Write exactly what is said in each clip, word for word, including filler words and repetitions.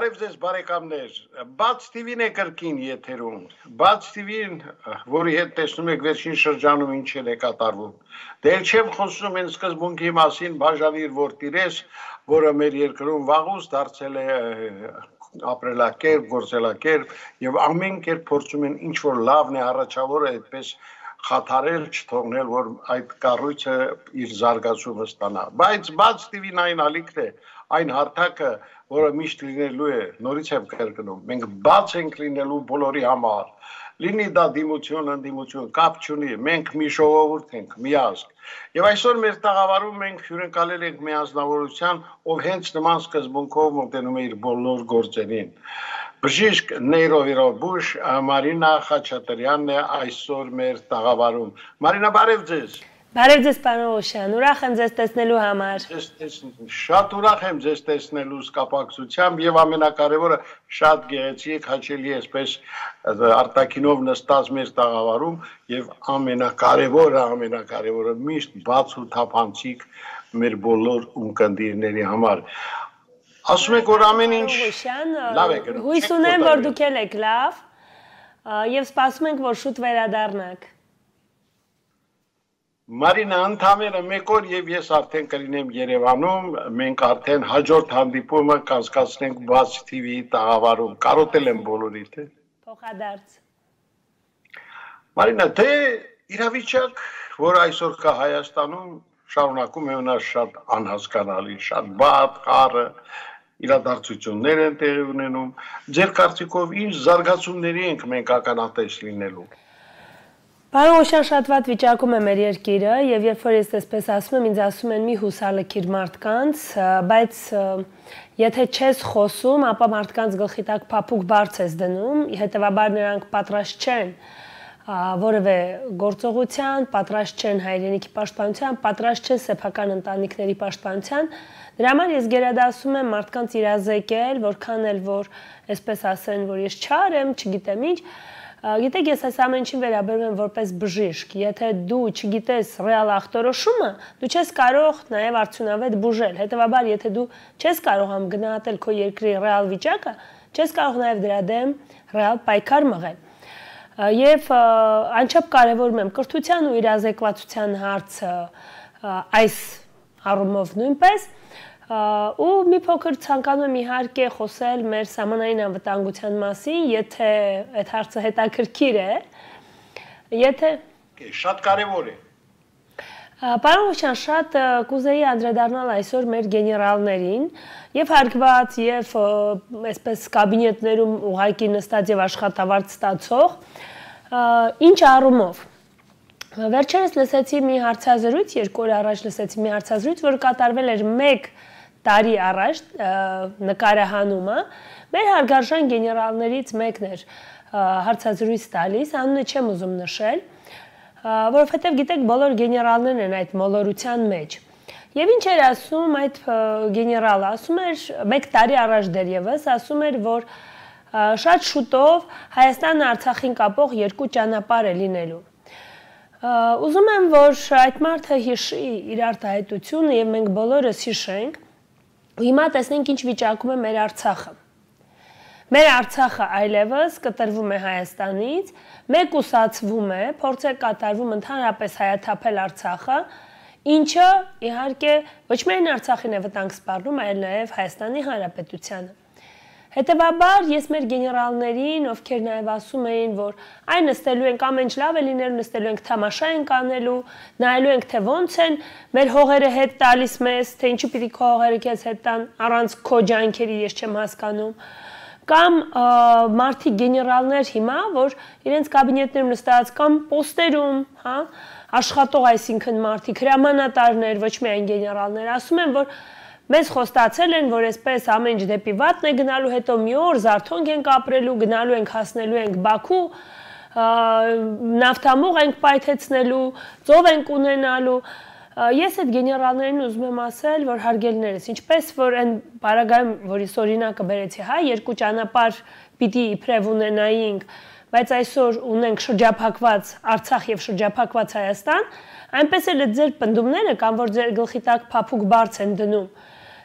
Բարև ձեզ բարեկամներ, Բաց թիվին է կրկին եթերում, Բաց թիվին, որի հետ տեսնում եք վերջին շրջանում ինչ է կատարվում, դե չեմ խոսում են սկզբունքի մասին բաժանիր որ տիրես, որը մեր երկրում վաղուց դարձել է ապրելակերպ, գործելակերպ եւ ամեն կերպ փորձում են ինչ որ լավն է առաջավորը այդպես խաթարել, չթողնել, որ այդ կառույցը իր զարգացումը ստանա, բայց Բաց թիվին այն ալիքն է, այն հարթակը, որը միշտ լինելու է, նորից եմ կրկնում, մենք բաց ենք լինելու բոլորի համար, լինի դա դիմություն, ընդդիմություն, կապ չունի, մենք մի ժողովուրդ ենք, միազգ, եւ այսօր մեր տաղավարում մենք հյուրընկալել ենք մի անձնավորության, ով հենց նման սկզբունքով մոտենում է իր բոլոր գործերին, բժիշկ նեյրովիրաբույժ Մարինա Խաչատրյանն է այսօր մեր տաղավարում, Մարինա բարև ձեզ Բարև ձեզ պարոն Օշյան, ուրախ եմ ձեզ տեսնելու համար։ Շատ ուրախ եմ ձեզ տեսնելու կապակցությամբ եւ ամենակարևորը շատ գեղեցիկ հաճելի այսպես արտաքինով նստած մեր տաղավարում եւ ամենակարևորը ամենակարևորը միշտ բաց ու թափանցիկ մեր բոլոր ունկնդիրների համար։ Ասում եք որ ամեն ինչ լավ է գնում։ Հույս ունեմ որ դուք եք լավ եւ սպասում ենք որ շուտ վերադառնաք։ Մարինա ընդամենը մեկ օր եւ ես արդեն կլինեմ Երևանում, մենք արդեն հաջորդ հանդիպումը կանցկացնենք Բաց թիվի տաղավարում, կարոտել եմ բոլորիդ, թե։ Փոխադարձ։ Մարինա, թե իրավիճակ, որ այսօր կա Հայաստանում, շարունակում է մնալ շատ անհասկանալի, շատ բաց, խառը, իրադարձություններ են տեղի ունենում, ձեր կարծիքով ինչ զարգացումների ենք մենք ականատես լինելու։ Պարոն Օշյան շատ վատ վիճակում է մեր երկիրը եւ երբ որ ես այսպես ասում եմ, ինձ ասում են մի հուսալքիր մարդկանց, բայց եթե չես խոսում, ապա մարդկանց գլխի տակ փափուկ բարձ ես դնում, հետեւաբար նրանք պատրաստ չեն որևէ գործողության, պատրաստ չեն հայրենիքի պաշտպանության, պատրաստ չեն սեփական ընտանիքների պաշտպանության։ Դրա համար ես գերադասում եմ մարդկանց իրազեկել, որքան էլ որ այսպես ասեն, որ ես չար եմ, չգիտեմ ինչ Գիտեք, ես այս ամեն ինչին վերաբերում եմ որպես բժիշկ, եթե դու չգիտես ռեալ ախտորոշումը, դու չես կարող նաև արդյունավետ բուժել, հետևաբար եթե դու չես կարող գնահատել քո երկրի ռեալ վիճակը, չես կարող նաև դրա դեմ ռեալ պայքար մղել։ Եվ անչափ կարևորում եմ կրթության ու իրազեկվածության հարցը այս առումով նույնպես ու մի փոքր ցանկանում եմ իհարկե խոսել մեր սահմանային անվտանգության մասին, եթե այդ հարցը հետաքրքիր է, եթե շատ կարևոր է։ Պարոն Օշյան, շատ կուզեի անդրադառնալ այսօր մեր գեներալներին, եւ հարգված, եւ այսպես կաբինետներում ուղղակի նստած եւ աշխատավարձ ստացող, ինչ առումով Վերջերս լսեցի մի հարցազրույց, երկու օր առաջ լսեցի մի հարցազրույց, որ կատարվել էր մեկ տարի առաջ նկարահանումը, մեր հարգարժան գեներալներից մեկն էր հարցազրույց տալիս, անունը չեմ ուզում նշել, որովհետև գիտեք բոլոր գեներալներն են այդ մոլորության մեջ։ Եվ ինչ էր ասում այդ գեներալը, ասում էր մեկ տարի առաջ դեռևս, ասում էր, որ շատ շուտով Հայաստանը Արցախին կապող երկու ճանապարհ է լինելու։ Ուզում եմ, որ այդ մարդը հիշի իր արտահայտությունը եւ մենք բոլորս հիշենք, ու հիմա տեսնենք ինչ վիճակում է մեր Արցախը։ Մեր Արցախը այլևս կտրվում է Հայաստանից, մեկուսացվում է, փորձ է կատարվում ընդհանրապես հայաթափել Արցախը, ինչը իհարկե ոչ միայն Արցախին է վտանգ սպառնում, այլ նաեւ Հայաստանի Հանրապետությանը։ Հետևաբար ես մեր գեներալներին, ովքեր նաև ասում էին, որ այն նստելու ենք ամեն ինչ լավ է լինելու, նստելու ենք թամաշա ենք անելու, նայելու ենք թե ոնց են մեր հողերը հետ տալիս մեզ, թե ինչու պիտի քո հողերը քեզ հետ տան առանց քո ջանքերի, ես չեմ հասկանում։ Կամ մարդիկ գեներալներ հիմա, որ իրենց կաբինետներում նստած կամ պոստերում, հա, աշխատող այսինքն մարդիկ, հրամանատարներ, ոչ միայն գեներալներ, ասում են, որ Մեզ խոստացել են, որ այսպես ամեն ինչ դեպի վատն է գնալու, հետո մի օր զարթոնք ենք ապրելու, գնալու ենք, հասնելու ենք Բաքու, նավթամուղ ենք պայթեցնելու, ծով ենք ունենալու։ Ես այդ գեներալներին ուզում եմ ասել, որ հարգելիներս, ինչպես որ այն բարագայում, որից օրինակը բերեցի, հա, երկու ճանապարհ պիտի իբրև ունենայինք, բայց այսօր ունենք շրջափակված Արցախ եւ շրջափակված Հայաստան, այնպես էլ ձեր պնդումները կամ որ ձեր գլխի տակ փափուկ բարձ են դնում,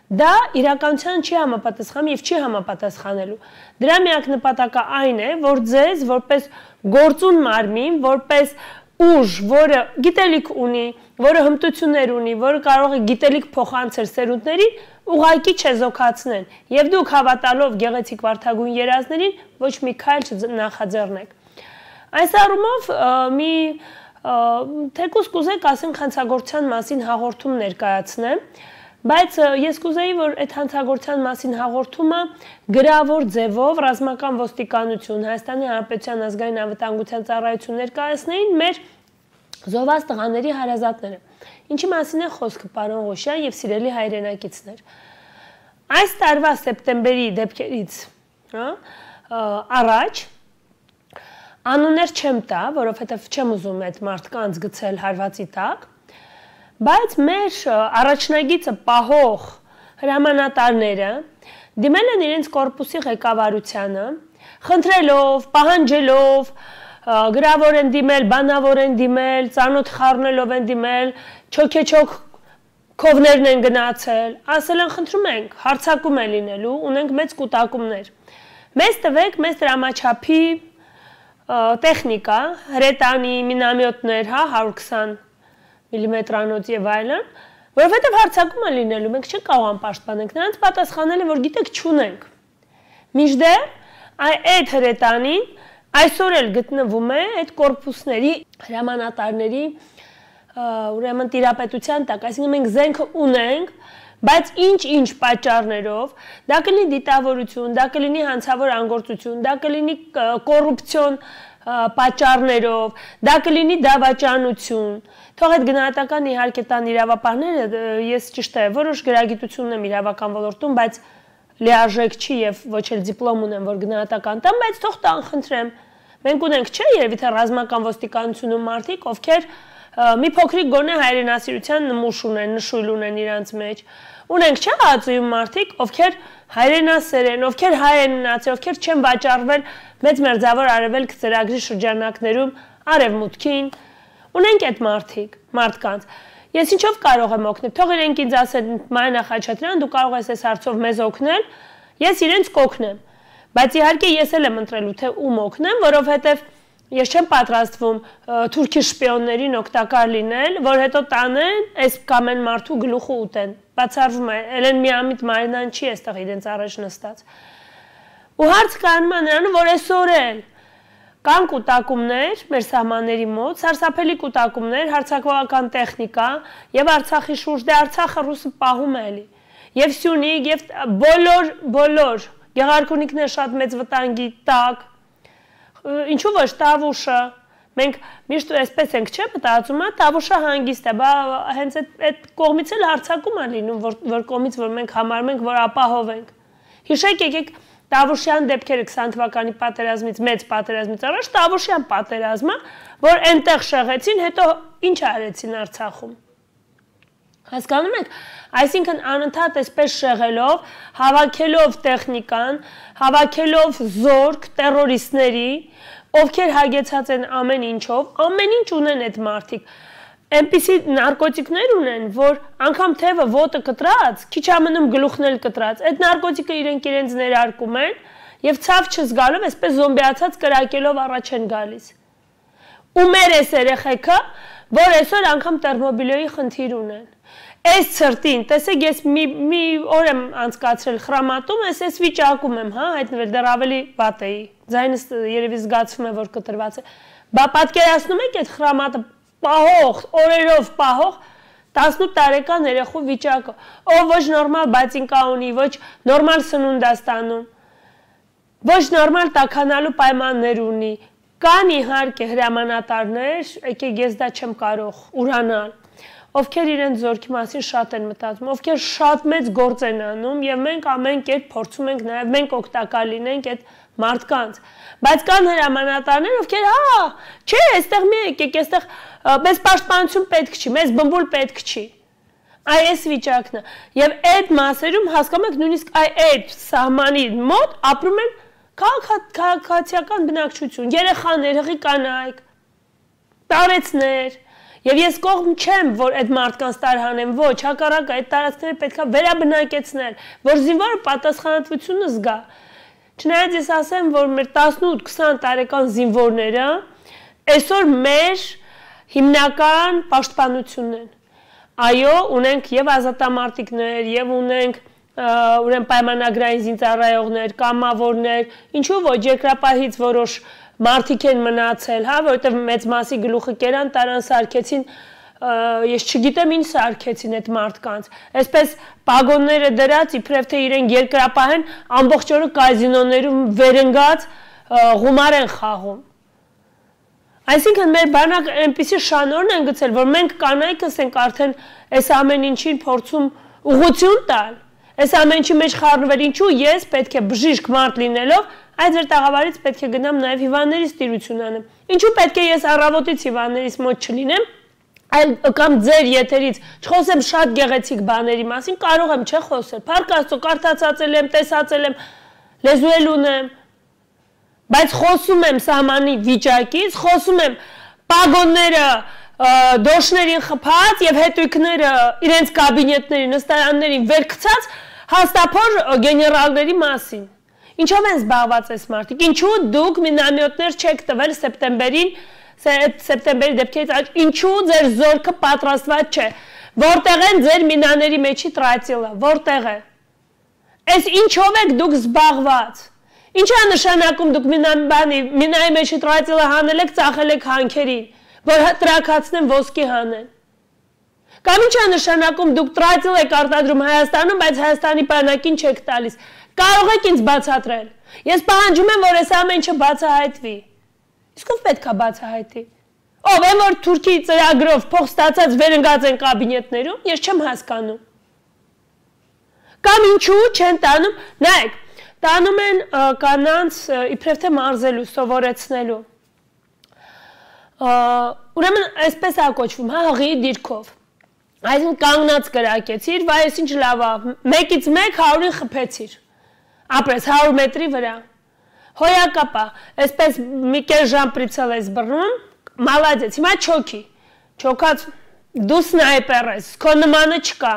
դա իրականության չի համապատասխանում եւ չի համապատասխանելու։ Դրա միակ նպատակը այն է, որ ձեզ որպես գործուն մարմին, որպես ուժ, որը գիտելիք ունի, որը հմտություններ ունի, որը կարող է գիտելիք փոխանցել սերունդներին, ուղղակի չեզոքացնեն։ Եվ դուք հավատալով գեղեցիկ վարդագույն երազներին ոչ մի քայլ չնախաձեռնեք։ Այս առումով մի թեկուզ կուզեք ասենք հանցագործության մասին հաղորդում ներկայացնեմ, բայց ես կուզեի, որ այդ հանցագործության մասին հաղորդումը գրավոր ձևով ռազմական ոստիկանություն, Հայաստանի Հանրապետության ազգային անվտանգության ծառայություն ներկայացնեին մեր զոհված տղաների հարազատները։ Ինչի մասին է խոսքը, պարոն Ղուշյան եւ սիրելի հայրենակիցներ։ Այս տարվա սեպտեմբերի դեպքերից, հա, առաջ անուններ չեմ տա, որովհետեւ չեմ ուզում այդ մարդկանց գցել հարվածի տակ, բայց մեր առաջնագիծը պահող հրամանատարները դիմել են իրենց կորպուսի ղեկավարությանը, խնդրելով, պահանջելով, գրավոր են դիմել, բանավոր են դիմել, ծանոթ խառնելով են դիմել, չոքեչոք քովներն են գնացել, ասել են խնդրում ենք, հարցակում է լինելու, ունենք մեծ կուտակումներ։ Մեզ տվեք, մեզ դրամաչափի տեխնիկա, հրետանի, մինամյոտներ, հա, հարյուր քսան միլիմետրանոց եւ այլն, որովհետեւ հարցակում է լինելու, մենք չենք կարող անպաշտպանենք, նրանց պատասխանել են, որ գիտեք, չունենք։ Մինչդեռ այդ հրետանին այսօր էլ գտնվում է այդ կորպուսների հրամանատարների ուրեմն տիրապետության տակ, այսինքն մենք զենքը ունենք, բայց ինչ-ինչ պատճառներով, դա կլինի դիտավորություն, դա կլինի հանցավոր անգործություն, դա կլինի կոռուպցիոն պատճառներով, դա կլինի դավաճանություն։ Թող այդ գնահատական իհարկե տան իրավապահները, ես ճիշտ է, որոշ գրագիտություն եմ իրավական ոլորտում, բայց լիարժեք չի եւ ոչ էլ դիպլոմ ունեմ, որ գնահատական տամ, բայց թող տան խնդրեմ։ Մենք ունենք, չէ, երևի թե ռազմական ոստիկանությունում մարդիկ, ովքեր մի փոքրիկ գոնե հայրենասիրության նմուշ ունեն, նշույլ ունեն իրանց մեջ։ Ունենք, չէ, ածույում մարդիկ, ովքեր հայրենասեր են, ովքեր հայ են մնացել, ովքեր չեն վաճառվել մեծ մերձավոր արևելք ծրագրի շրջանակներում արևմուտքին։ Ունենք այդ մարդիկ, մարդկանց։ Ես ինչով կարող եմ օգնել։ Թող իրենք ինձ ասեն, Մարինա Խաչատրյան, դու կարող ես այս հարցով մեզ օգնել, ես իրենց կօգնեմ։ Բայց իհարկե ես էլ եմ ընտրելու, թե ում օգնեմ, որովհետև ես չեմ պատրաստվում թուրքի շպիոններին օգտակար լինել, որ հետո տանեն, այս կամ այն մարդու գլուխը ուտեն։ Բացառվում է, Էլեն Միամիտ Մարինան չի այստեղ իրենց առաջ նստած։ Ու հարց կանում է նրանում, որ այսօր էլ կան կուտակումներ մեր սահմանների մոտ, սարսափելի կուտակումներ, հարձակողական տեխնիկա եւ Արցախի շուրջ, դե Արցախը ռուսը պահում է էլի։ Եվ Սյունիք, եւ բոլոր բոլոր Գեղարքունիքն է շատ մեծ վտանգի տակ։ Ինչու ոչ Տավուշը։ Մենք միշտ այսպես ենք, չէ՞, մտածում է Տավուշը հանգիստ է, բա հենց այդ այդ կողմից էլ հարձակում է լինում, որ որ կողմից որ մենք համարում ենք, որ ապահով ենք։ Հիշեք, եկեք Տավուշյան դեպքերը քսան թվականի պատերազմից, մեծ պատերազմից առաջ Տավուշյան պատերազմը, որ այնտեղ շեղեցին, հետո ինչ արեցին Արցախում։ Հասկանում եք, այսինքն անընդհատ այսպես շեղելով, հավաքելով տեխնիկան, հավաքելով զորք տերորիստների, ովքեր հագեցած են ամեն ինչով, ամեն ինչ ունեն այդ մարդիկ։ Այնպիսի նարկոտիկներ ունեն, որ անգամ թևը ոտը կտրած, քիչ ամնում գլուխն էլ կտրած, այդ նարկոտիկը իրենք իրենց ներարկում են եւ ցավ չզգալով այսպես զոմբիացած կրակելով առաջ են գալիս։ Ու մեր այս երեխեքը, որ այսօր անգամ տերմոբիլոյի խնդիր ունեն։ Այս ցրտին, տեսեք, ես մի մի օր եմ անցկացրել խրամատում, ես այս վիճակում եմ, հա, հայտնվել դեռ ավելի վատ էի։ Ձայնս երևի զգացվում է, որ կտրված է։ Բա պատկերացնում եք այդ խրամատը պահող, օրերով պահող տասնութ տարեկան երեխու վիճակը, ով ոչ նորմալ բացինկա ունի, ոչ նորմալ սնունդ է ստանում, ոչ նորմալ տաքանալու պայմաններ ունի։ Կան իհարկե հրամանատարներ, եկեք ես դա չեմ կարող ուրանալ, ովքեր իրենց զորքի մասին շատ են մտածում, ովքեր շատ մեծ գործ են անում եւ մենք ամեն կերպ փորձում ենք նաեւ մենք օգտակար լինենք այդ մարդկանց, բայց կան հրամանատարներ, ովքեր հա, չէ, այստեղ մի եկեք, այստեղ մեզ պաշտպանություն պետք չի, մեզ բմբուլ պետք չի։ Այ այս վիճակն է։ Եվ այդ մասերում հասկանում եք նույնիսկ այ այդ սահմանի մոտ ապրում են քաղաքացիական բնակչություն, երեխաներ, հղի կանայք, տարեցներ, Եվ ես կողմ չեմ, որ այդ մարդկանց տարհանեմ, ոչ, հակառակը այդ տարածքները պետք է վերաբնակեցնել, որ զինվորը պատասխանատվությունը զգա։ Չնայած ես ասեմ, որ մեր տասնութ-քսան տարեկան զինվորները այսօր մեր հիմնական պաշտպանությունն են։ Այո, ունենք եւ ազատամարտիկներ, եւ ունենք ուրեմն պայմանագրային զինծառայողներ, կամավորներ, ինչու ոչ երկրապահից որոշ մարդիկ են մնացել, հա, որովհետեւ մեծ մասի գլուխը կերան, տարան սարքեցին, ես չգիտեմ ինչ սարքեցին այդ մարդկանց։ Այսպես պագոնները դրած, իբրև թե իրենք երկրապահ են, ամբողջ օրը կազինոներում վերընկած գումար են խաղում։ Այսինքն մեր բանակը այնպիսի շանորն են գցել, որ մենք կանայքս ենք արդեն այս ամեն ինչին փորձում ուղղություն տալ, այս ամեն ինչի մեջ խառնվել, ինչու ես պետք է բժիշկ մարդ լինելով, այդ ձեր տաղավարից պետք է գնամ նաև հիվանդների ստիրություն անեմ։ Ինչու պետք է ես առավոտից հիվանդներից մոտ չլինեմ, այլ կամ ձեր եթերից չխոսեմ շատ գեղեցիկ բաների մասին, կարող եմ չէ խոսել, փառք Աստծո, կարդացածել եմ, տեսածել եմ, լեզու էլ ունեմ, բայց խոսում եմ սահմանի վիճակից, խոսում եմ պագոնները դոշներին խփած եւ հետույքները իրենց կաբինետների նստարաններին վերգցած հաստափոր գեներալների մասին։ Ինչով են զբաղված այս մարդիկ։ Ինչու դուք մինամյոտներ չեք տվել սեպտեմբերին, սեպտեմբերի դեպքերից առաջ, ինչու ձեր զորքը պատրաստված չէ։ Որտեղ են ձեր մինաների մեջի տրատիլը, որտեղ է։ Այս ինչով եք դուք զբաղված։ Ինչ է նշանակում դուք մինայի մեջի տրատիլը հանել եք, ծախել եք հանքերին, որ տրաքացնեն ոսկի հանեն։ Կամ ինչ է նշանակում դուք տրատիլ եք արտադրում Հայաստանում, բայց Հայաստանի բանակին չեք տալիս։ Կարող եք ինձ բացատրել։ Ես պահանջում եմ, որ այս ամեն ինչը բացահայտվի։ Իսկ ով պետք է բացահայտի։ Ով է, որ Թուրքի ծրագրով փող ստացած վերընկած են կաբինետներում, ես չեմ հասկանում։ Կամ ինչու չեն տանում, նայեք, տանում են կանանց իբրև թե մարզելու, սովորեցնելու։ Ուրեմն այսպես է կոչվում, հա, հղի դիրքով։ Այսինքն կանգնած կրակեցիր, վայ, ես ինչ լավ է, մեկից մեկ հարյուրին խփեցիր։ Ապրես հարյուր մետրի վրա։ Հոյակապա, այսպես մի կես ժամ պրիցել ես բռնում, մալադեց, հիմա չոքի, չոքած դու սնայպեր ես, քո նմանը չկա։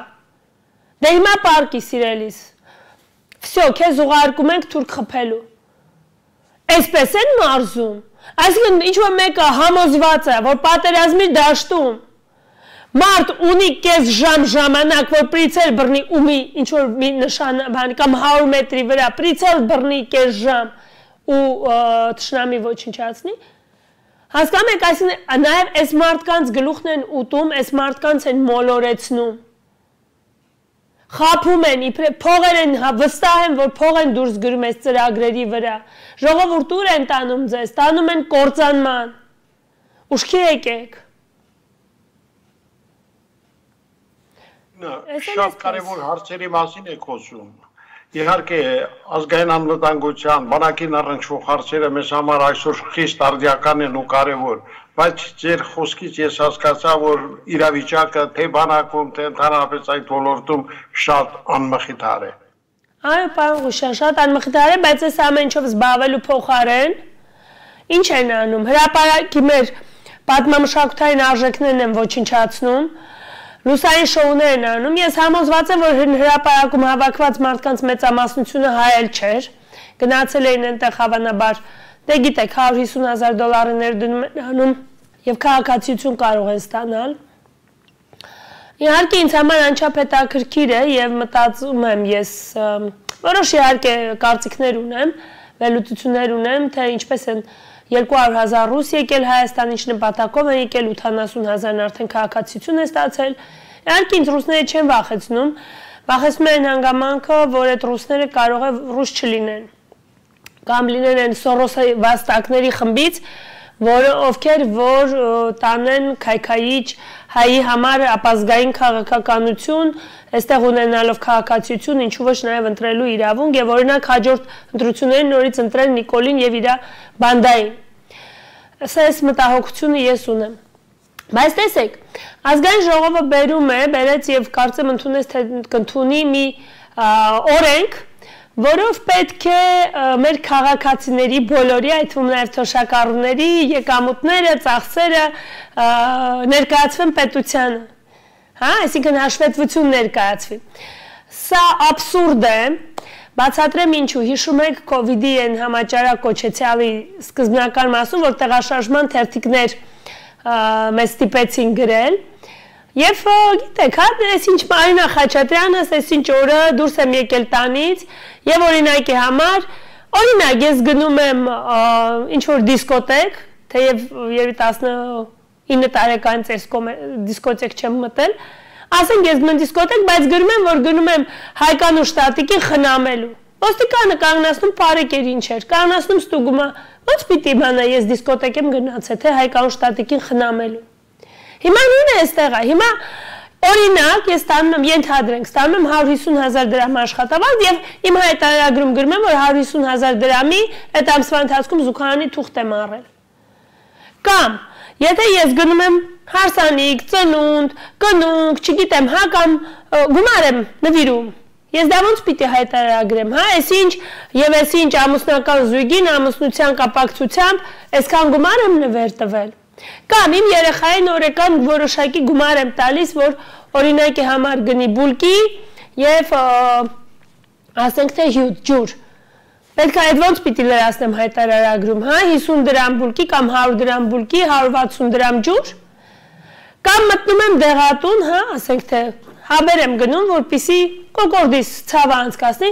Դե հիմա պարկի սիրելիս, վսյո, քեզ ուղարկում ենք թուրք խփելու։ Այսպես են մարզում, այսինքն ինչ-որ մեկը համոզված է, որ պատերազմի դաշտում մարդ ունի կես ժամ ժամանակ, որ պրիցել բռնի ումի ինչ-որ մի նշան բանի կամ հարյուր մետրի վրա, պրիցել բռնի կես ժամ ու թշնամի ոչնչացնի, հասկանում եք, այսինքն նաև այս մարդկանց գլուխն են ուտում, այս մարդկանց են մոլորեցնում, խափում են, փողեր են, վստահ են, որ փող են դուրս գրում այս ծրագրերի վրա, ժողովուրդ ուր են տանում ձեզ, տանում են կործանման, ուշքի եկեք։ Շատ կարևոր հարցերի մասին եք խոսում։ Իհարկե, ազգային անվտանգության, բանակին առնչվող հարցերը մեզ համար այսօր խիստ արդիական են ու կարևոր, բայց ձեր խոսքից ես հասկացա, որ իրավիճակը թե բանակում, թե ընդհանրապես այդ ոլորտում շատ անմխիթար է։ Այո, պարոն Ղուշյան, շատ անմխիթար է, բայց այս ամեն ինչով զբաղվելու փոխարեն ինչ են անում։ Հրապարակի մեր պատմամշակութային արժեքներն են ոչնչացնում, լուսային շոուներ են անում, ես համոզված եմ, որ հրապարակում հավաքված մարդկանց մեծամասնությունը հայել չէր, գնացել էին այնտեղ հավանաբար, դե գիտեք, հարյուր հիսուն հազար դոլարի ներդնում են անում և քաղաքացիություն կարող են ստանալ։ Իհարկե ինձ համար անչափ հետաքրքիր է և մտածում եմ ես, որոշ իհարկե կարծիքներ ունեմ, վերլուծություններ ունեմ, թե ինչպես են երկու հարյուր հազար ռուս եկել Հայաստան, ինչ նպատակով են եկել, ութանասուն հազարն արդեն քաղաքացիություն է ստացել։ Իհարկե ինձ ռուսները չեն վախեցնում, վախեցնում են հանգամանքը, որ այդ ռուսները կարող է ռուս չլինեն։ Կամ լինեն են Սորոսի վաստակների խմբից, որը ովքեր որ տանեն քայքայիչ հայի համար ապազգային քաղաքականություն, այստեղ ունենալով քաղաքացիություն, ինչու ոչ նաև ընտրելու իրավունք եւ օրինակ հաջորդ ընտրություններին նորից ընտրել Նիկոլին եւ իր բանդային։ Սա էս մտահոգությունը ես ունեմ։ Բայց տեսեք, ազգային ժողովը բերում է, բերեց եւ կարծեմ ընդունեց թե կընդունի մի օրենք, որով պետք է մեր քաղաքացիների բոլորի, այդ թվում նաև թոշակառուների եկամուտները, ծախսերը ներկայացվեն պետությանը, հա, այսինքն հաշվետվություն ներկայացվի։ Սա աբսուրդ է, բացատրեմ ինչու, հիշում եք կովիդի են համաճարակ կոչեցյալի սկզբնական մասում, որ տեղաշարժման թերթիկներ մեզ ստիպեցին գրել, եւ գիտեք, հա, այս ինչ Մարինա Խաչատրյանս, այս ինչ օրը դուրս եմ եկել տանից եւ օրինակի համար, օրինակ ես գնում եմ ինչ որ դիսկոտեկ, թեև երևի տասնինը տարեկանից այս դիսկոտեկ չեմ մտել, ասենք ես գնում եմ դիսկոտեկ, բայց գրում եմ, որ գնում եմ Հայկանու շտատիկին խնամելու։ Ոստիկանը կանգնացնում բարեկեր ինչեր, կանգնացնում ստուգումա, ո՞նց պիտի իմանա ես դիսկոտեկ եմ գնացել, թե Հայկանու շտատիկին խնամելու։ Հիմա նույնը էստեղ է, հիմա օրինակ ես ստանում եմ, ենթադրենք, ստանում եմ հարյուր հիսուն հազար դրամ աշխատավարձ եւ իմ հայտարարագրում գրում եմ, որ հարյուր հիսուն հազար դրամի այդ ամսվա ընթացքում զուգարանի թուղթ եմ առել։ Կամ եթե ես գնում եմ հարսանիք, ծնունդ, կնունկ, չգիտեմ, հա, կամ գումար եմ նվիրում, ես դա ոնց պիտի հայտարարագրեմ, հա, այսինչ եւ այսինչ ամուսնական զույգին ամուսնության կապակցությամբ այսքան գումար եմ նվեր տվել։ Կամ իմ երեխային օրական որոշակի գումար եմ տալիս, որ օրինակի համար գնի բուլկի եւ ասենք թե հյութ ջուր։ Պետք է այդ ոնց պիտի լրացնեմ հայտարարագրում, հա, հիսուն դրամ բուլկի կամ հարյուր դրամ բուլկի, հարյուր վաթսուն դրամ ջուր։ Կամ մտնում եմ դեղատուն, հա, ասենք թե հաբեր եմ գնում, որպեսզի կոկորդիս ցավը անցկացնի,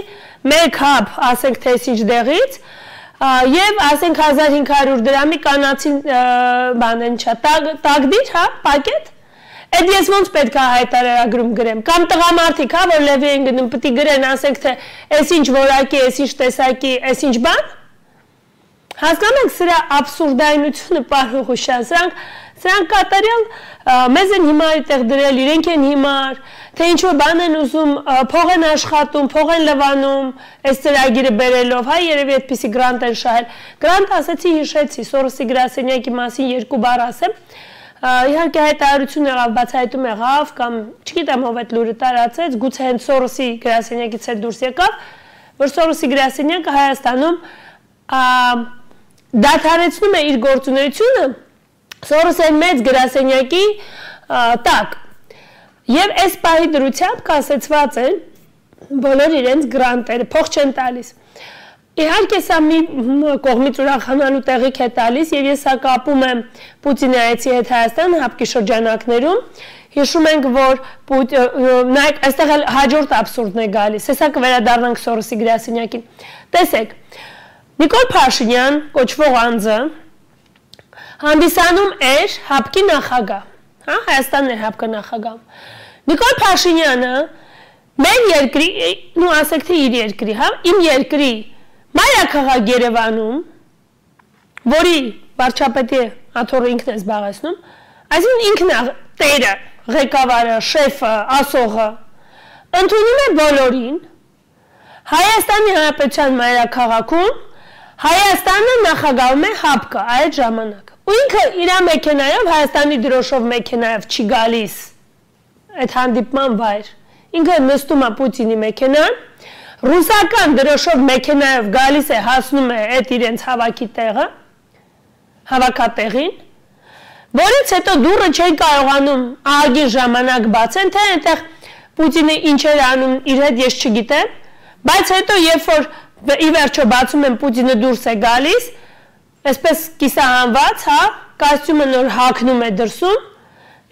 մեկ հաբ, ասենք թե այսինչ դեղից, եւ ասենք հազար հինգ հարյուր դրամի կանացին բան են չա, տագդիր, հա, պակետ։ Այդ ես ոնց պետք է հայտարարագրում գրեմ, կամ տղամարդիկ, հա, որ լևի են գնում, պիտի գրեն, ասենք թե այսինչ որակի, այսինչ տեսակի, այսինչ բան։ Հասկանում եք սրա աբսուրդայնությունը, պարոն Ղուշյան, սրանք Սրանք կատարյալ մեզ են հիմարի տեղ դրել, իրենք են հիմար, թե ինչ-որ բան են ուզում, փող են աշխատում, փող են լվանում, այս ծրագիրը բերելով, հա, երևի այդպիսի գրանտ են շահել։ Գրանտ ասեցի, հիշեցի, Սորոսի գրասենյակի մասին երկու բառ ասեմ, իհարկե հայտարարություն եղավ, բացահայտում եղավ, կամ չգիտեմ ով այդ լուրը տարածեց, գուցե հենց Սորոսի գրասենյակից էլ դուրս եկավ, որ Սորոսի գրասենյակը Հայաստանում դադարեցնում է իր գործունեությունը Սորոսի մեծ գրասենյակի տակ եւ այս պահի դրությամբ կասեցված են բոլոր իրենց գրանտերը, փող չեն տալիս։ Իհարկե սա մի կողմից ուրախանալու տեղիք է տալիս եւ ես սա կապում եմ Պուտինի այցի հետ Հայաստան հապկի շրջանակներում։ Հիշում ենք, որ նայեք, այստեղ էլ հաջորդ աբսուրդն է գալիս։ Հեսա կվերադառնանք Սորոսի գրասենյակին։ Տեսեք, Նիկոլ Փաշինյան կոչվող անձը հանդիսանում էր հապկի նախագահ, հա, Հայաստանն էր հապկի նախագահ։ Նիկոլ Փաշինյանը մեր երկրի, նու ասեք թե իր երկրի, հա, իմ երկրի մայրաքաղաք Երևանում, որի վարչապետի աթոռը ինքն է զբաղեցնում, այսինքն ինքն է տերը, ղեկավարը, շեֆը, ասողը, ընդունում է բոլորին, Հայաստանի Հանրապետության մայրաքաղաքում Հայաստանը նախագահում է հապկը այդ ժամանակ։ Ու ինքը իր մեքենայով, Հայաստանի դրոշով մեքենայով չի գալիս այդ հանդիպման վայր։ Ինքը նստում է Պուտինի մեքենան, ռուսական դրոշով մեքենայով գալիս է, հասնում է այդ իրենց հավաքի տեղը, հավաքատեղին, որից հետո դուռը չեն կարողանում ահագին ժամանակ բացեն, թե այնտեղ Պուտինը ինչ էր անում իր հետ ես չգիտեմ, բայց հետո երբ որ ի վերջո բացում են Պուտինը դուրս է գալիս, այսպես կիսահանված, հա, կոստյումը նոր հագնում է դրսում,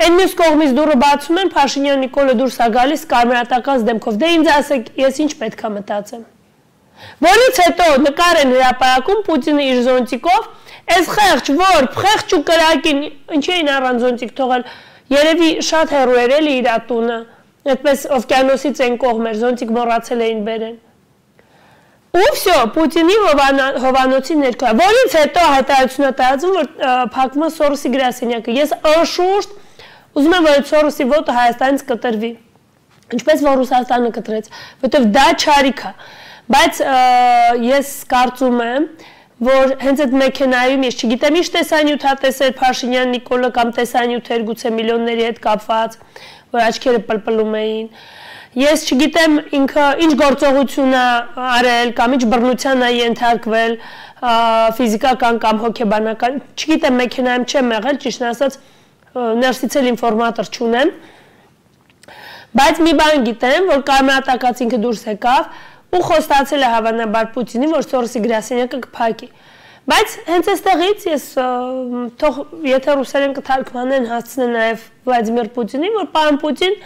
այն մյուս կողմից դուռը բացում են, Փաշինյան Նիկոլը դուրս է գալիս կարմրատակած դեմքով, դե ինձ ասեք, ես ինչ պետք է մտածեմ։ Որից հետո նկար են հրապարակում Պուտինը իր զոնտիկով, այս խեղճ, որ, խեղճ ու կրակին, ինչ էին առանց զոնտիկ թողել, երևի շատ հեռու էր էլի իր տունը, այդպես օվկիանոսից են կողմեր, զոնտիկ մոռացել էին բերեն։ Ու վсё, Պուտինի հովանոցի ներքա, որից հետո հայտարարություն է տարածվում, որ փակվում է Սորոսի գրասենյակը։ Ես անշուշտ ուզում եմ, որ Սորոսի ոտը Հայաստանից կտրվի, ինչպես որ Ռուսաստանը կտրեց, որովհետև դա չարիք է։ Բայց ես կարծում եմ, որ հենց այդ մեքենայում ես չգիտեմ ինչ տեսանյութ է տեսել Փաշինյան Նիկոլը կամ տեսանյութեր գուցե միլիոնների հետ կապված, որ աչքերը պլպլում էին։ Ես չգիտեմ ինքը ինչ գործողություն է արել կամ ինչ բռնության է ենթարկվել ֆիզիկական կամ հոգեբանական, չգիտեմ մեքենայում չեմ եղել, ճիշտն ասած ներսից էլ ինֆորմատոր չունեմ, բայց մի բան գիտեմ, որ կամերատակած ինքը դուրս եկավ ու խոստացել է հավանաբար Պուտինին, որ Սորոսի գրասենյակը կփակի։ Բայց հենց այստեղից ես թող եթե ռուսերեն կթարգմանեն հասցնեն նաև Վլադիմիր Պուտինին, որ պարոն Պուտին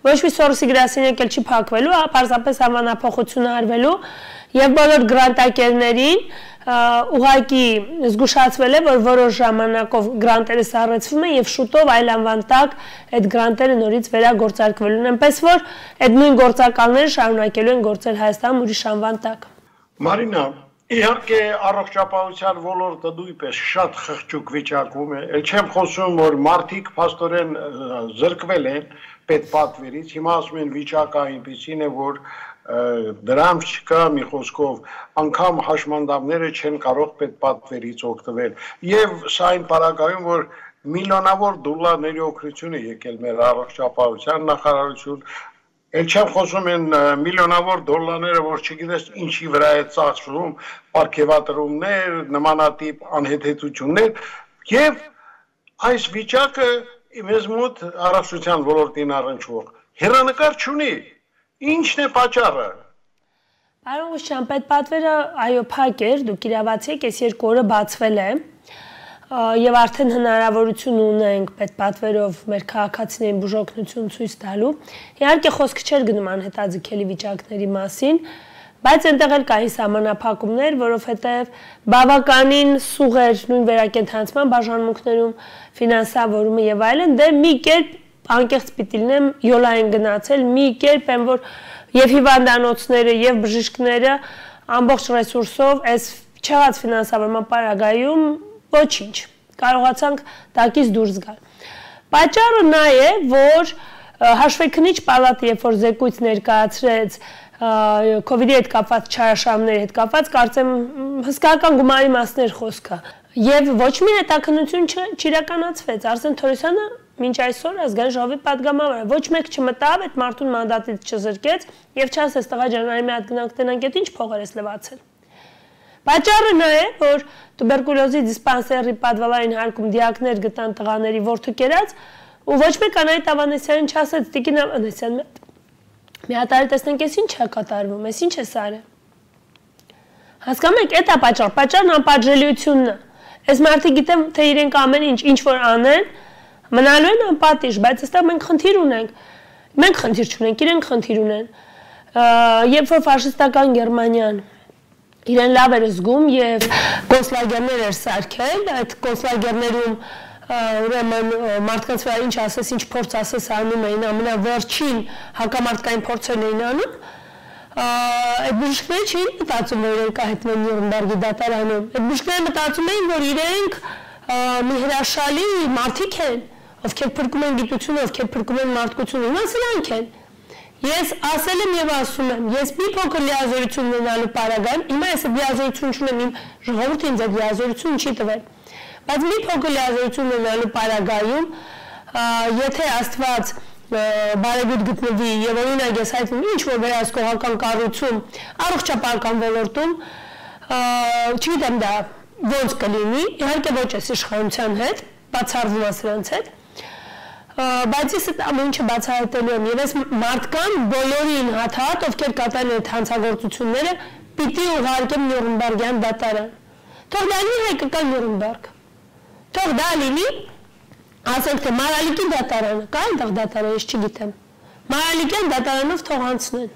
ոչ մի Սորոսի գրասենյակ էլ չի փակվելու, պարզապես հավանափոխություն արվելու եւ բոլոր գրանտակերներին ուղղակի զգուշացվել է, որ որոշ ժամանակով գրանտերը սառեցվում են եւ շուտով այլ անվան տակ այդ գրանտերը նորից վերագործարկվելու են, այնպես որ այդ նույն գործակալները շարունակելու են գործել Հայաստանում ուրիշ անվան տակ։ Մարինա, իհարկե առողջապահության ոլորտը նույնպես շատ խղճուկ վիճակում է, ել չեմ խոսում, որ մարդիկ փաստորեն զրկվել են պետպատվերից, հիմա ասում են վիճակը այնպիսին է, որ դրանց չկա, մի խոսքով, անգամ հաշմանդամները չեն կարող պետպատվերից օգտվել, եւ սա այն պարագայում, որ միլիոնավոր դոլարների օգնություն է եկել մեր առողջապահության նախարարություն, ել չեմ խոսում են միլիոնավոր դոլարները, որ չգիտես ինչի վրա է ծախսվում, պարգևատրումներ, նմանատիպ անհեթեթություններ, եւ այս վիճակը մեզ մոտ առողջության ոլորտին առնչվող հեռանկար չունի, ինչն է պատճառը։ Պարոն Ղուշյան, պետպատվերը այո փակ էր, դուք իրավացի եք, այս երկու օրը բացվել է եւ արդեն հնարավորություն ունենք պետպատվերով մեր քաղաքացիներին բուժօգնություն ցույց տալու։ Իհարկե խոսքը չէր գնում անհետաձգելի վիճակների մասին, բայց այնտեղ էլ կային սահմանափակումներ, որովհետեւ բավականին սուղեր նույն վերակենդանացման բաժանմունքներում ֆինանսավորումը եւ այլն, դե մի կերպ անկեղծ պիտի լինեմ յոլային գնացել, մի կերպ են որ եւ հիվանդանոցները եւ բժիշկները ամբողջ ռեսուրսով այս չեղած ֆինանսավորման պարագայում ոչինչ կարողացանք տակից դուրս գալ։ Պատճառը նա է, որ հաշվեկնիչ պալատը երբ որ զեկույց ներկայացրեց COVID-ի հետ կապված չարաշահումների հետ կապված, կարծեմ հսկայական գումարի մասներ խոսքը եւ ոչ մի հետաքննություն չիրականացվեց։ Արսեն Թորոսյանը մինչ այսօր ազգային ժողովի падգամավոր է, ոչ մեկ չմտավ այդ մարդուն մանդատից չզրկեց եւ չասեց տղա ջան, այ մի հատ գնանք տենանք, այդ ինչ փողեր ես լվացել։ Պատճառը նա է, որ տուբերկուլոզի դիսպանսերի պատվալային հարկում դիակներ գտան տղաների որդու կերած ու ոչ մեկ Անահիտ Ավանեսյանին չասեց Տիկին Ավանեսյան մի հատ արի տեսնենք էս ինչ է կատարվում, էս ինչ է սարը։ Հասկանում եք, դա պատճառ, պատճառն անպատժելիությունն է։ Այս մարդիկ գիտեմ, թե իրենք ամեն ինչ ինչ որ անեն, մնալու են անպատիժ, բայց այստեղ մենք խնդիր ունենք։ Մենք խնդիր չունենք, իրենք խնդիր ունեն։ Երբ որ ֆաշիստական Գերմանիան իրեն լավ էր զգում եւ կոնցլագերներ էր սարքել, այդ կոնցլագերներում ուրեմն մարդկանց վրա ինչ ասես, ինչ փորձ ասես անում էին, ամենավերջին հակամարտկային փորձերն էին անում, այդ բժիշկները չէին մտածում, որ իրենք կհայտնվեն Նյուրնբերգի դատարանում, այդ բժիշկները մտածում էին, որ իրենք մի հրաշալի մարդիկ են, ովքեր փրկում են գիտությունը, ովքեր փրկում են մարդկությունը, հիմա սրանք են։ Ես ասել եմ եւ ասում եմ, ես մի փոքր լիազորություն ունենալու պարագայում, հիմա ես լիազորություն չունեմ, իմ ժողովուրդը ինձ այդ լիազորություն չի տվել։ Բայց մի փոքր լիազորություն ունենալու պարագայում, եթե Աստված բարեգութ գտնվի եւ օրինակ ես հայտնում ինչ որ վերահսկողական կառույցում, առողջապահական ոլորտում, չգիտեմ դա ոնց կլինի, իհարկե ոչ էս իշխանության հետ, բացառվում է սրանց հետ, բայց ես այդ ամեն ինչը բացահայտելու եմ եւ այս մարդկան բոլորին հատ-հատ, ովքեր կատարել են հանցագործությունները, պիտի ուղարկեմ Նյուրնբերգյան դատարան։ Թող դա լինի հայկական Նյուրնբերգ։ Թող դա լինի, ասենք թե Մարալիկի դատարանը, կա այնտեղ դատարան, ես չգիտեմ։ Մարալիկյան դատարանով թող անցնեն։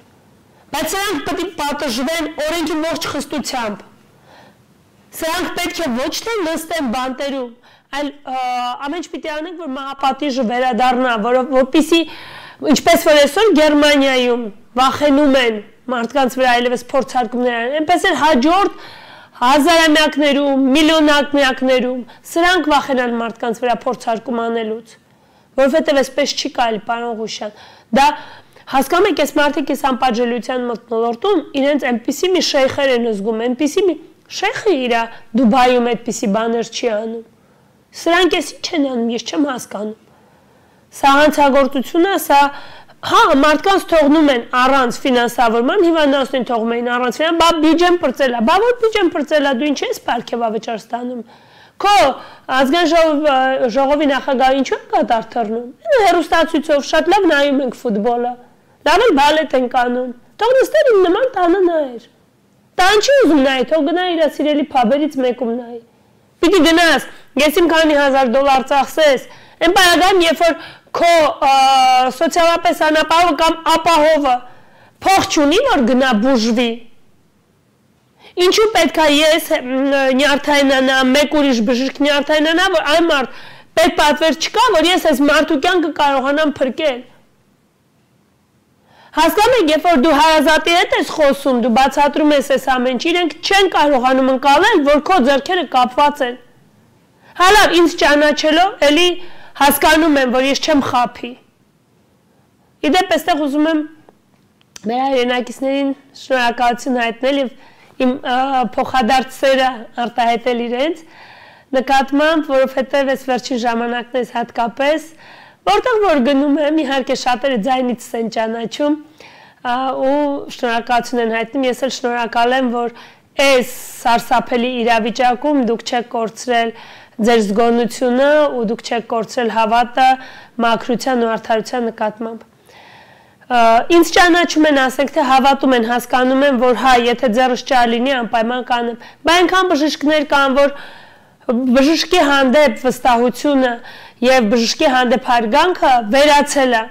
Բայց սրանք պետք է պատժվեն օրենքի ողջ խստությամբ։ Սրանք պետք է ոչ թե նստեն բանտերում, այլ ամեն ինչ պիտի անենք, որ մահապատիժը վերադառնա, որպեսզի ինչպես որ այսօր Գերմանիայում վախենում են մարդկանց վրա այլևս փորձարկումներ անեն, այնպես էլ հաջորդ հազարամյակներում, միլիոնակներում սրանք վախենան մարդկանց վրա փորձարկում անելուց, որովհետև այսպես չի կարելի, պարոն Ղուշյան։ Դա հասկանում եք, այս մարդիկ այս անպատժելիության մթնոլորտում իրենց այնպիսի մի շեյխեր են զգում, այնպիսի մի շեյխը իր Դուբայում այդպիսի բաներ չի անում։ Սրանք էս ինչ են անում, ես չեմ հասկանում։ Սա հանցագործություն է, սա հա, մարդկանց թողնում են առանց ֆինանսավորման, հիվանդանոցին թողում էին առանց ֆինանսավորման, բա բյուջեն պրծել է, բա որ բյուջեն պրծել է, դու ինչ ես պարգևավճար ստանում։ Քո ազգային ժողովի նախագահը ինչու է կատար թռնում։ Հեռուստացույցով շատ լավ նայում ենք ֆուտբոլը։ Լավ էլ բալետ ենք անում։ Թող նստեր իմ նման տանը նայեր։ Տան չի ուզում նայ, թող գնա իր սիրելի փաբերից մեկում նայ։ Պիտի գնաս, ես իմ քանի հազար դոլար ծախսես, այն բանական երբ որ քո սոցիալապես անապահովը կամ ապահովը փող չունի, որ գնա բուժվի։ Ինչու պետք է ես նյարդայնանամ, մեկ ուրիշ բժիշկ նյարդայնանա, որ այն մարդ պետք պատվեր չկա, որ ես այս մարդու կյանքը կարողանամ փրկել։ Հասկանում եք, երբ որ դու հարազատի հետ ես խոսում, դու բացատրում ես այս ամեն ինչ, իրենք չեն կարողանում ընկալել, որ քո ձեռքերը կապված են։ Հալավ ինձ ճանաչելով, էլի հասկանում եմ, որ ես չեմ խափի։ Իդեպ այստեղ ուզում եմ մեր հայրենակիցներին շնորհակալություն հայտնել եւ իմ փոխադարձ սերը արտահայտել իրենց նկատմամբ, որովհետև այս վերջին ժամանակներս հատկապես, որտեղ որ գնում եմ, իհարկե շատերը ձայնից են ճանաչում ու շնորհակալություն են հայտնում, ես էլ շնորհակալ եմ, որ այս սարսափելի իրավիճակում դուք չեք կորցրել ձեր զգոնությունը ու դուք չեք կորցրել հավատը մաքրության ու արդարության նկատմամբ։ Ինձ ճանաչում են, ասենք թե հավատում են, հասկանում են, որ հա, եթե ձեռս ճար լինի, անպայման կանեմ։ Բայց այնքան բժիշկներ կան, որ բժշկի հանդեպ վստահությունը եւ բժշկի հանդեպ հարգանքը վերացել է։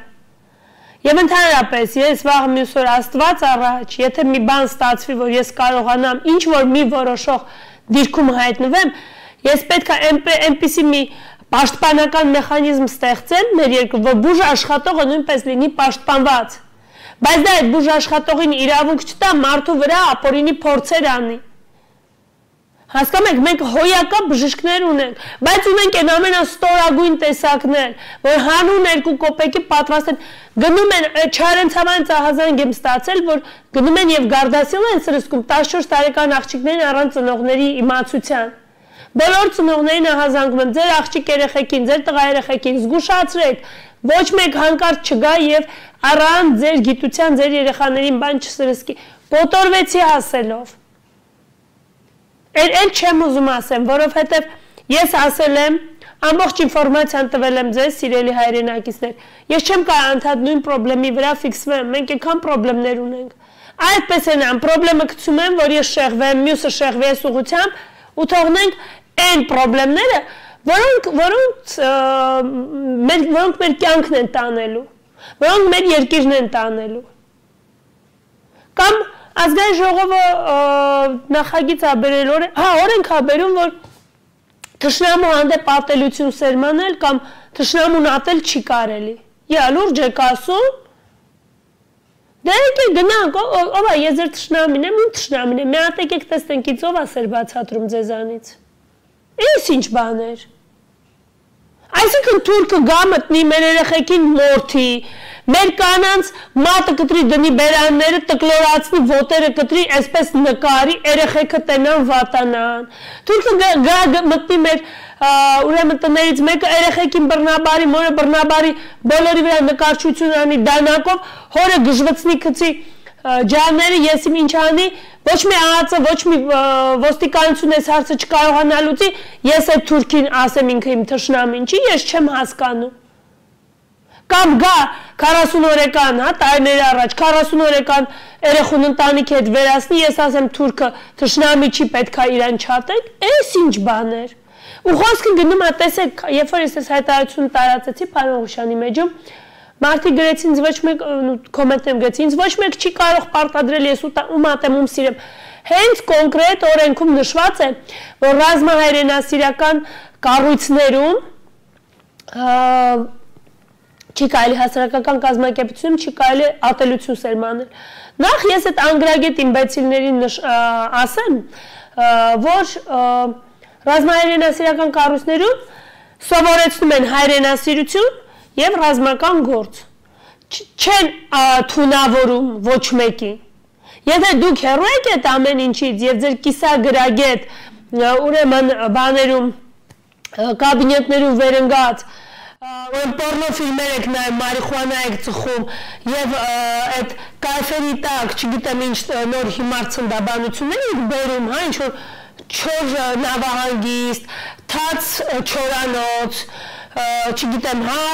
Եվ ընդհանրապես ես վաղ մյուս օր Աստված առաջ, եթե մի բան ստացվի, որ ես կարողանամ ինչ որ մի որոշող դիրքում հայտնվեմ, ես պետք է այնպիսի մի պաշտպանական մեխանիզմ ստեղծել մեր երկրում, որ բուժ աշխատողը նույնպես լինի պաշտպանված։ Բայց դա այդ բուժ աշխատողին իրավունք չտա մարդու վրա ապօրինի փորձեր անի։ Հասկանում եք, մենք հոյակապ բժիշկներ ունենք, բայց ունենք այն ամենաստորագույն տեսակներ, որ հանուն երկու կոպեկի պատրաստ են, գնում են, չարենցավային ծահազանգ եմ ստացել, որ գնում են եւ գարդասիլ են սրսկում տասնչորս տարեկան աղջիկներին առանց ծնողների իմացության։ Բոլոր ծնողներին ահազանգում եմ, ձեր աղջիկ երեխեքին, ձեր տղա երեխեքին զգուշացրեք, ոչ մեկ հանկարծ չգա եւ առանց ձեր գիտության ձեր երեխաներին բան չսրսկի։ Կոտորվեցի ասելով։ Էլ չեմ ուզում ասեմ, որովհետև ես ասել եմ, ամբողջ ինֆորմացիան տվել եմ ձեզ, սիրելի հայրենակիցներ։ Ես չեմ կարող անդադ նույն խնդրի վրա ֆիքսվեմ, մենք այնքան խնդիրներ ունենք։ Այդպես են ամ, խնդրը գցում եմ, որ ես շեղվեմ, մյուսը շեղվի այս ուղղությամբ ու թողնենք այն խնդիրները, որոնք որոնք մեր որոնք մեր կյանքն են տանելու, որոնք մեր երկիրն են տանելու։ Կամ ազգային ժողովը նախագիծ աբերել օր, հա, օրենք աբերում, որ թշնամու հանդեպ ատելություն սերմանել կամ թշնամուն ատել չի կարելի։ Իա լուրջ եք ասում։ Դե եկեք գնանք, ով է ես ձեր թշնամին եմ, ում թշնամին եմ, մի հատ եկեք տեսնենք ինձ ով է սեր բացատրում ձեզանից։ Էս ինչ բաներ։ Այսինքն թուրքը գա մտնի մեր երեխեքին մորթի, մեր կանանց մատը կտրի դնի բերանները, տկլորացնի ոտերը կտրի, այսպես նկարի, երեխեքը տենան վատանան։ Թուրքը գա մտնի մեր ուրեմն տներից մեկը երեխեքին բռնաբարի, մորը բռնաբարի, բոլորի վրա նկարչություն անի դանակով, հորը գժվցնի գցի ջարները, ես իմ ինչ անի, ոչ մի ԱԱԾ, ոչ մի ոստիկանություն այս հարցը չկարողանալուցի, ես այդ թուրքին ասեմ ինքը իմ թշնամին չի, ես չեմ հասկանում։ Կամ գա քառասուն օրեկան, հա, տարիներ առաջ քառասուն օրեկան երեխուն ընտանիքի հետ վերացնի, ես ասեմ թուրքը թշնամի չի, պետք է իրան չատենք, էս ինչ բաներ։ Ու խոսքը գնում է, տեսեք, երբ որ ես այս հայտարարությունը տարածեցի պարոն Ղուշյանի մեջում, մարդիկ գրեցին, ինձ ոչ մեկ կոմենտներ գրեցին, ինձ ոչ մեկ չի կարող պարտադրել ես ում ատեմ, ում սիրեմ։ Հենց կոնկրետ օրենքում նշված է, որ ռազմահայրենասիրական կառույցներում չի կարելի հասարակական կազմակերպությունում չի կարելի ատելություն սերմանել։ Նախ ես այդ անգրագետ իմբեցիլներին ասեմ, որ ռազմահայրենասիրական կառույցներում սովորեցնում են հայրենասիրություն եւ ռազմական գործ։ Չեն թունավորում ոչ մեկին։ Եթե դուք հեռու եք այդ ամեն ինչից եւ ձեր կիսագրագետ ուրեմն բաներում կաբինետներում վերընկած որ պորնոֆիլմեր եք նայում, մարիխուանա եք ծխում եւ այդ կայֆերի տակ, չգիտեմ ինչ նոր հիմար ցնդաբանություններ եք բերում, հա, ինչ որ չոր նավահանգիստ, թաց չորանոց, չգիտեմ, հա,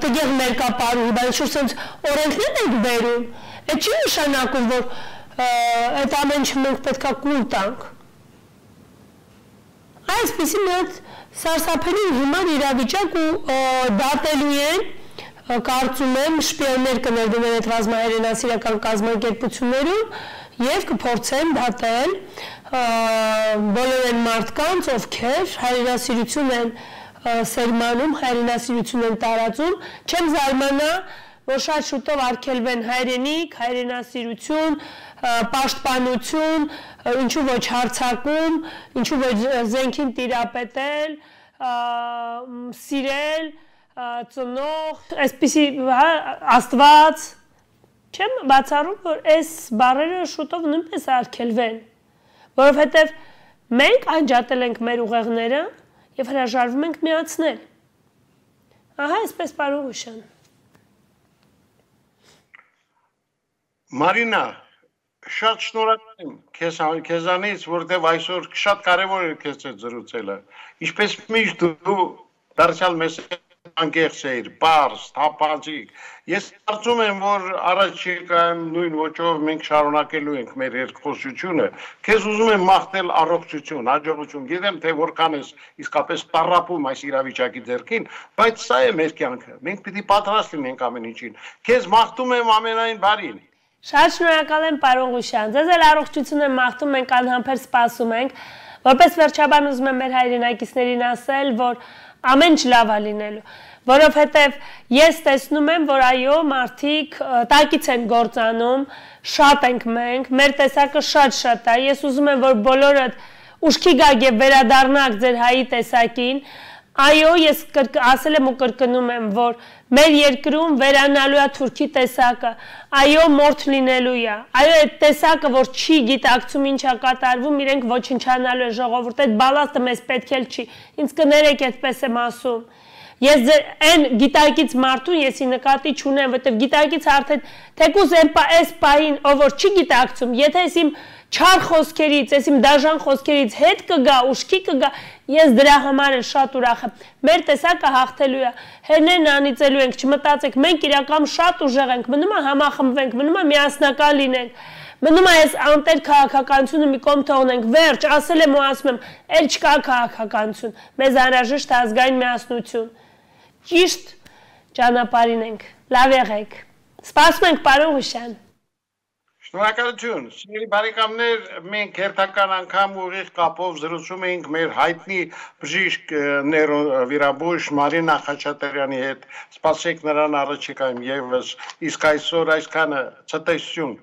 տգեղ մերկապարուհի, բայց ինչ որ օրենքներ եք բերում, այդ չի նշանակում, որ այդ ամեն ինչը մենք պետքա կուլ տանք։ Այսպիսի մի հատ սարսափելի հիմար իրավիճակ ու դատելու են, կարծում եմ, շպիոններ կներդում են այդ ռազմահայրենասիրական կազմակերպություններում եւ կփորձեն դատել բոլոր այն մարդկանց, ովքեր հայրենասիրություն են սերմանում, հայրենասիրություն են տարածում, չեմ զարմանա, որ շատ շուտով արգելվեն հայրենիք, հայրենասիրություն, պաշտպանություն, ինչու ոչ հարցակում, ինչու ոչ զենքին տիրապետել, սիրել, ծնող, այսպիսի աստված, չեմ բացառում, որ այս բառերը շուտով նույնպես արգելվեն, որովհետև մենք անջատել ենք մեր ուղեղները եւ հրաժարվում ենք միացնել։ Ահա այսպես պարոն Ղուշյան։ Մարինա, շատ շնորհակալ եմ քեզ քեզանից, որտեղ այսօր շատ կարևոր է քեզ հետ զրուցելը։ Ինչպես միշտ դու դարձյալ մեզ անկեղծ էիր, պարզ, թափանցիկ։ Ես կարծում եմ, որ առաջիկայում նույն ոճով մենք շարունակելու ենք մեր երկխոսությունը։ Քեզ ուզում եմ մաղթել առողջություն, հաջողություն։ Գիտեմ, թե որքան ես իսկապես տառապում այս իրավիճակի ձեռքին, բայց սա է մեր կյանքը։ Մենք պիտի պատրաստ լինենք ամեն ինչին։ Քեզ մաղթում եմ ամենայն բարին։ Շատ շնորհակալ եմ պարոն Ղուշյան, ձեզ էլ առողջություն եմ մաղթում, մենք անհամբեր սպասում ենք, որպես վերջաբան ուզում եմ մեր հայրենակիցներին ասել, որ ամեն ինչ լավ է լինելու, որովհետև ես տեսնում եմ, որ այո, մարդիկ տակից են գործանում, շատ ենք մենք, մեր տեսակը շատ-շատ է, ես ուզում եմ, որ բոլորդ ուշքի գաք եւ վերադառնաք ձեր հայի տեսակին, այո, ես ասել եմ ու կրկնում եմ, որ մեր երկրում վերանալու է թուրքի տեսակը, այո, մորթ լինելու է, այո, այդ տեսակը, որ չի գիտակցում ինչ է կատարվում, իրենք ոչնչանալու է ժողովուրդ, այդ բալաստը մեզ պետք էլ չի, ինձ կներեք այդպես եմ ասում, ես այն գիտակից մարդուն եսի նկատի չունեմ, որտեղ գիտակից արդեն թեկուզ այս պահին, ով որ չի գիտակցում, եթե ես իմ չար խոսքերից, ես իմ դաժան խոսքերից հետ կգա, ուշքի կգա, ես դրա համար էլ շատ ուրախ եմ։ Մեր տեսակը հաղթելու է, հերներն անիծելու ենք, չմտածեք, մենք իրական շատ ուժեղ ենք, մնում է համախմբվենք, մնում է միասնական լինենք, մնում է այս անտեր քաղաքականությունը մի կողմ թողնենք, վերջ, ասել եմ ու ասում եմ, էլ չկա քաղաքականություն, մեզ անհրաժեշտ է ազգային միասնություն, ճիշտ ճանապարհին ենք, լավ եղեք, սպասում ենք պարոն Ղուշյան։ Շնորհակալություն, սիրելի բարեկամներ, մենք հերթական անգամ ուղիղ կապով զրուցում էինք մեր հայտնի բժիշկ նեյրովիրաբույժ Մարինա Խաչատրյանի հետ, սպասեք նրան առաջիկայում ևս, իսկ այսօր այսքանը ցտեսություն։